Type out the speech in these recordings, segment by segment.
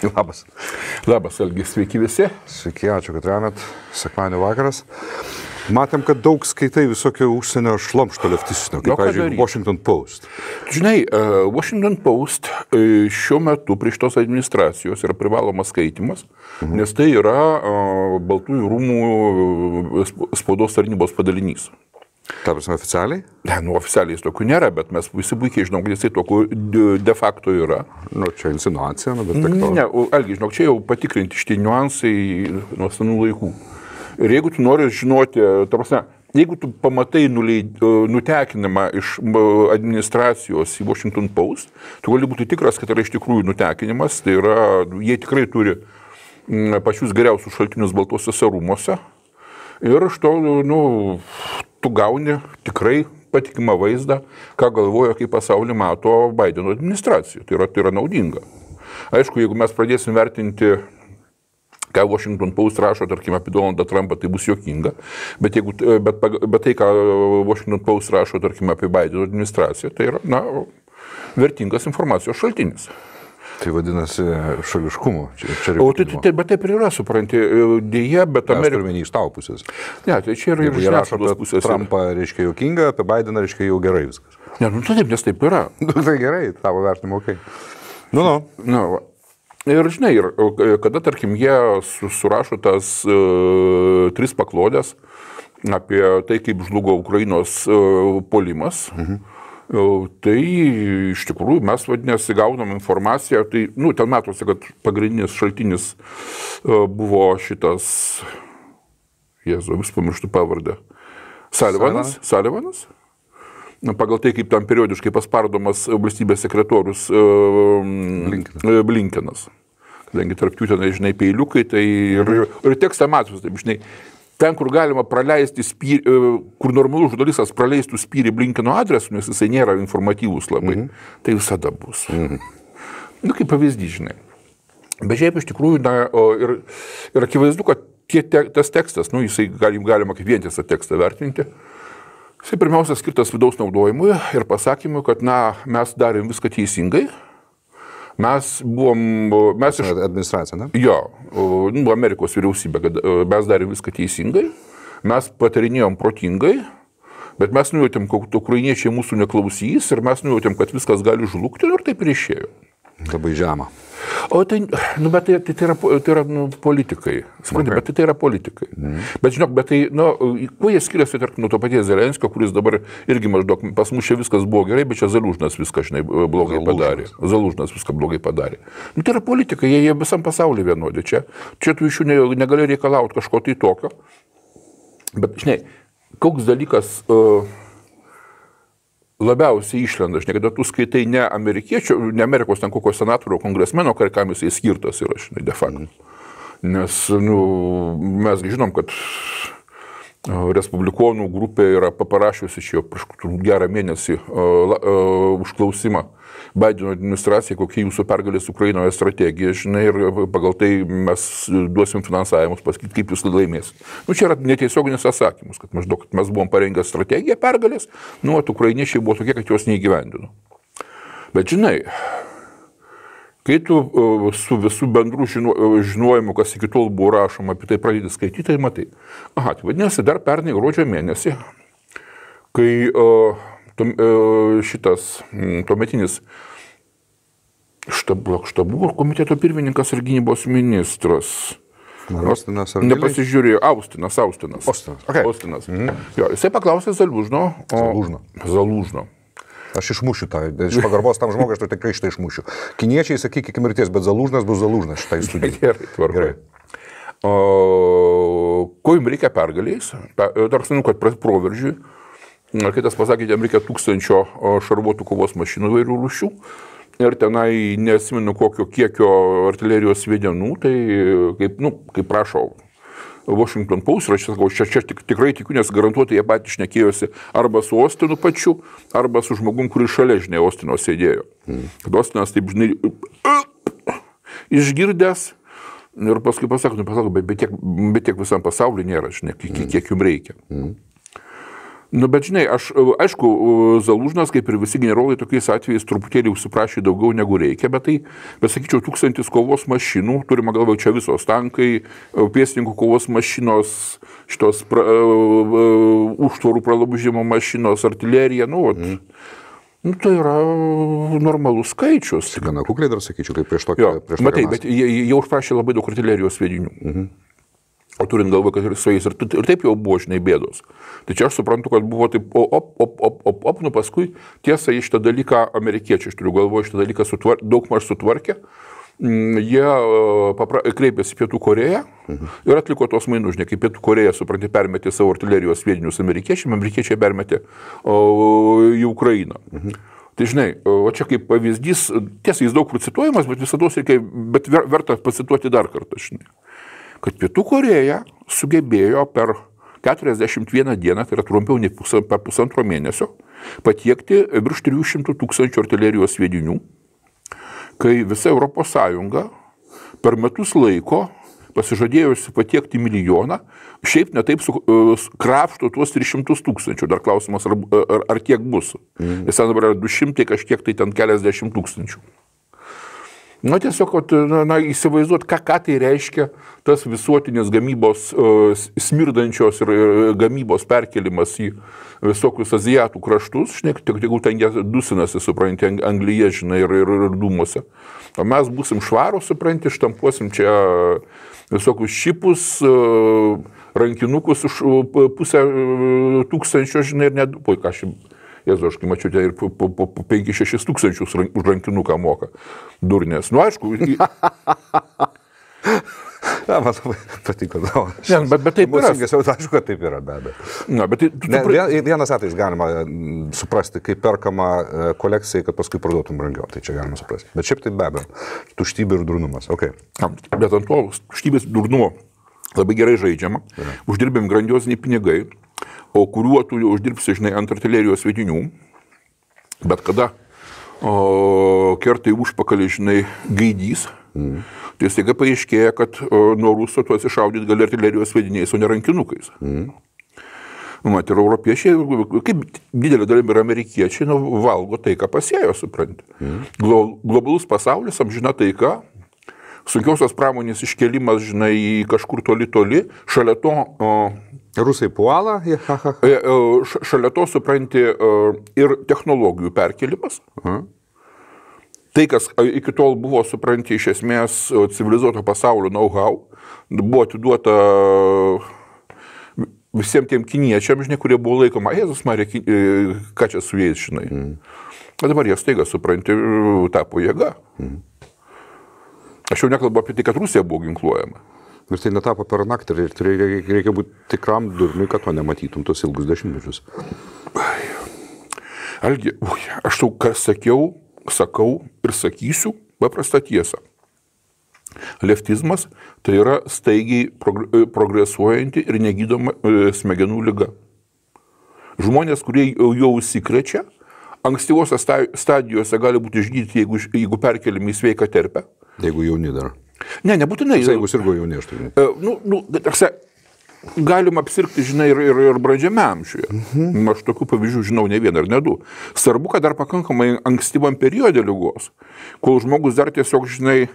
Labas. Labas, Algi, sveiki visi. Sveiki, ačiū, kad remet. Sekmadienio vakaras. Matėm, kad daug skaitai visokio užsienio šlamšto leftistinio, kaip, pavyzdžiui, Washington Post. Žinai, Washington Post šiuo metu prie šitos administracijos yra privalomas skaitimas, nes tai yra Baltųjų rūmų spaudos tarnybos padalinys. Ta prasme, oficialiai? Ne, oficialiai jis tokių nėra, bet mes visi puikiai žinom, kad jisai tokių de facto yra. Čia insinuacija, bet tik to. Ne, Algi, žinok, čia jau patikrinti šitie niuansai nuo senų laikų. Ir jeigu tu nori žinoti, ta prasme, jeigu tu pamatai nutekinimą iš administracijos į Washington Post, tu gali būti tikras, kad yra iš tikrųjų nutekinimas, tai yra, jie tikrai turi pačius geriausius šaltinius Baltuosiuose rūmuose. Ir iš to, tu gauni tikrai patikimą vaizdą, ką galvoja, kaip pasaulį mato Bideno administracija. Tai yra naudinga. Aišku, jeigu mes pradėsim vertinti, ką Washington Post rašo, tarkim, apie Donaldą Trumpą, tai bus juokinga. Bet tai, ką Washington Post rašo, tarkim, apie Bideno administraciją, tai yra, vertingas informacijos šaltinis. Tai vadinasi šališkumo. Bet taip ir yra, supranti, dėja, bet Amerika... Mes turime iš tavo pusės. Ne, tai čia yra ir žiniasklaidos pusės. Trumpą reiškia juokinga, apie Bideną reiškia jau gerai viskas. Ne, taip, nes taip yra. Tai gerai, tavo vertinimu, okei. Ir žinai, kada, tarkim, jie surašo tas 3 paklodės apie tai, kaip žlugo Ukrainos puolimas, tai iš tikrųjų mes vadinasi gaunam informaciją, tai, ten matosi, kad pagrindinis šaltinis buvo šitas, vis pamirštu pavardę, Sullivanas. Pagal tai, kaip tam periodiškai paspardomas valstybės sekretorius Blinkenas. Kadangi tarp jų ten, žinai, peiliukai, tai ir tekstą matos, taip, žinai, ten, kur galima praleisti spyrį, kur normalus žurnalistas praleistų spyrį Blinkeno adresu, nes jisai nėra informatyvus labai, tai visada bus. Kaip pavyzdys, žinai. Bet šiaip iš tikrųjų, ir akivaizdu, kad tas tekstas, jisai galima kaip vientisą tekstą vertinti, jisai pirmiausia skirtas vidaus naudojimui ir pasakymui, kad, mes darėm viską teisingai. Administracija, ne? Jo, Amerikos vyriausybė, kad mes darėm viską teisingai, mes patarinėjom protingai, bet mes nujautėm, kad ukrainiečiai mūsų neklausys ir mes nujautėm, kad viskas gali žlugti ir taip ir išėjo. Labai žema. O tai, bet tai yra politikai, supranti, bet tai yra politikai. Bet žinok, kuo jie skiriasi, tarkim, nuo to paties Zelenskio, kuris dabar irgi maždaug, pas mus čia viskas buvo gerai, bet čia Zalužnas viską, žinai, blogai padarė. Zalužnas viską blogai padarė. Tai yra politikai, jie visam pasaulyje vienodi. Čia tu iš jų negali reikalauti kažko tai tokio. Bet, žinai, koks dalykas labiausiai išlenda, žinai, kada tu skaitai ne amerikiečių, ne Amerikos ten kokio senatorių, kongresmeno, kam jisai skirtas yra, žinai, de facto. Nes, mes žinom, kad respublikonų grupė yra parašiusi čia prieš gerą mėnesį užklausimą Bideno administracijai, kokia jūsų pergalės Ukrainoje strategija, žinai, ir pagal tai mes duosim finansavimus, pasakyti, kaip jūs laimėsit. Čia yra netiesioginis atsakymas, kad maždaug mes buvom parengę strategiją pergalės, ukrainiečiai buvo tokie, kad jos neįgyvendino. Bet žinai, kai tu su visų bendrų žinojimu, kas iki tol buvo rašoma, apie tai pradėti skaityti, tai matai. Tai vadinasi, dar pernai gruodžio mėnesį, kai šitas tuometinis štabų komiteto pirmininkas ir gynybos ministras. Austinas ar nepasižiūrėjo, Austinas. Jo, jisai paklausė Zalužno. Aš išmušiu tą, iš pagarbos tam žmogui, aš tikrai šitą išmušiu. Kiniečiai sakyk iki mirties, bet Zalužnas bus Zalužnas šitai studijai. Gerai, tvarkai. Ko jums reikia pergaliais? Dar senu, kad proveržiui. Kitas pasakė, jam reikia 1000 šarvuotų kovos mašinų įvairių rūšių. Ir tenai nesimenu kokio kiekio artilerijos sviedmenų, tai kaip prašo Washington Post, ir aš tikrai tikiu, nes garantuotai jie patys šnekėjosi arba su Austinu pačiu, arba su žmogum, kuris šalia, žinai, Austino sėdėjo. Kad Austinas taip, žinai, išgirdęs ir paskui pasako, bet tiek visam pasauliu nėra, žinai, kiek jums reikia. Nu, bet žinai, aišku, Zalužnas, kaip ir visi generolai, tokiais atvejais truputėlį užsiprašė daugiau negu reikia, bet sakyčiau, 1000 kovos mašinų, turime galvoje čia visos tankai, pėstininkų kovos mašinos, šitos užtvarų pralaužimo mašinos, artilerija, tai yra normalus skaičius. Gana kukliai dar sakyčiau, kaip prieš tokią. Matai, bet jie užprašė labai daug artilerijos sviedinių. O turint galvoje, kad ir su jais ir taip jau buvo, žinai, bėdos. Tai čia aš suprantu, kad buvo taip, paskui tiesa į šitą dalyką amerikiečiai, aš turiu galvoje, šitą dalyką daugmaž sutvarkė. Jie kreipėsi Pietų Koreją ir atliko tos mainus, žinai, kaip Pietų Koreja, supranti, permetė savo artilerijos sviedinius amerikiečiai permetė į Ukrainą. Tai žinai, o čia kaip pavyzdys, tiesa, jis daug cituojamas, bet verta pacituoti dar kartą, žinai. Kad Pietų Koreja sugebėjo per 41 dieną, tai yra trumpiau nei per pusantro mėnesio, patiekti virš 300 000 artilerijos sviedinių, kai visa Europos Sąjunga per metus laiko pasižadėjusi patiekti 1 milijoną, šiaip netaip krapšto tuos 300 000. Dar klausimas, ar tiek bus. Nes ten dabar yra 200 kažkiek, tai ten keliasdešimt tūkstančių. Tiesiog, įsivaizduot, ką tai reiškia tas visuotinės gamybos, smirdančios ir gamybos perkelimas į visokius azijatų kraštus, žinai, tegul ten jie dusinasi, supranti, Anglyje, žinai, ir dūmuose. O mes būsim švarūs, supranti, štampuosim čia visokius šipus, rankinukus už 500, žinai, ir net, Jėzu, aš kai mačiau, ir po 5-6 tūkstančius už rankinuką moka. Durnės. Aišku. Man labai patiko. Bet taip yra. Aišku, kad taip yra, be abejo. Vienas atvejis galima suprasti, kaip perkama kolekcijai, kad paskui parduotum brangiau. Tai čia galima suprasti. Bet šiaip tai be abejo. Tuštybė ir durnumas. Okay. Bet ant to tuštybės durnumo labai gerai žaidžiama. Uždirbėm grandioziniai pinigai. O kuriuo tu uždirbsi, žinai, ant artilerijos sviedinių, bet kada kertai užpakalį, žinai, gaidys, tai staiga paaiškėja, kad nuo Ruso tu atsišaudyt gali artilerijos sviediniais, o ne rankinukais. Ir europiečiai, kaip didelė dalim ir amerikiečiai, valgo tai, ką pasėjo, supranti. Globalus pasaulis, amžina taika, sunkiausios pramonės iškelimas, žinai, kažkur toli, šalia to... Rusai puola, šalia to, supranti, ir technologijų perkelimas. Tai, kas iki tol buvo, supranti, iš esmės civilizuoto pasaulio know-how, buvo atiduota visiems tiem kiniečiam, žinai, kurie buvo laikoma, Jėzus Marija, ką čia su jais, žinai. Dabar jie staiga, supranti, tapo jėga. Aš jau nekalbu apie tai, kad Rusija buvo ginkluojama. Ir tai netapo per naktį ir reikia būti tikram durniui, kad to nematytum tos ilgus dešimtmečius. Algi, aš tau sakau ir sakysiu paprastą tiesą. Leftizmas tai yra staigiai progresuojanti ir negydoma smegenų liga. Žmonės, kurie jau užsikrečia, ankstyvose stadijose gali būti išgydyti, jeigu perkeliami į sveiką terpę. Jeigu jauni dar. Ne, nebūtinai. Jeigu sirgo jauni, aš tai. Galima apsirgti, žinai, ir brandžiame amžiuje. Aš tokių pavyzdžių žinau ne vieną ir ne du. Svarbu, kad dar pakankamai ankstyvam periode ligos, kol žmogus dar tiesiog, žinai,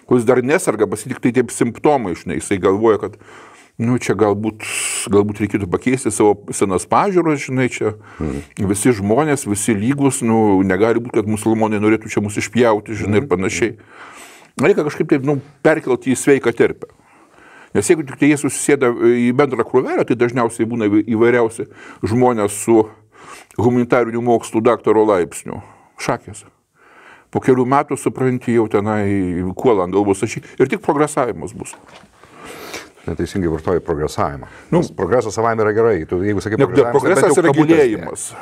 kol jis dar nesarga, tik tai taip simptomai, žinai, jisai galvoja, kad čia galbūt reikėtų pakeisti savo senas pažiūros, žinai, čia visi žmonės, visi lygus, negali būti, kad musulmonai norėtų čia mus išpjauti, žinai, ir panašiai. Reikia kažkaip taip, perkelti į sveiką terpę. Nes jeigu tik tai jie susisėda į bendrą krūvelę, tai dažniausiai būna įvairiausi žmonės su humanitarinių mokslų daktaro laipsniu. Šakės. Po kelių metų, supranti, jau tenai kuola ant galvos ir tik progresavimas bus. Neteisingai vartoji progresavimą. Progresas savaime yra gerai. Jeigu sakai progresas yra gilėjimas.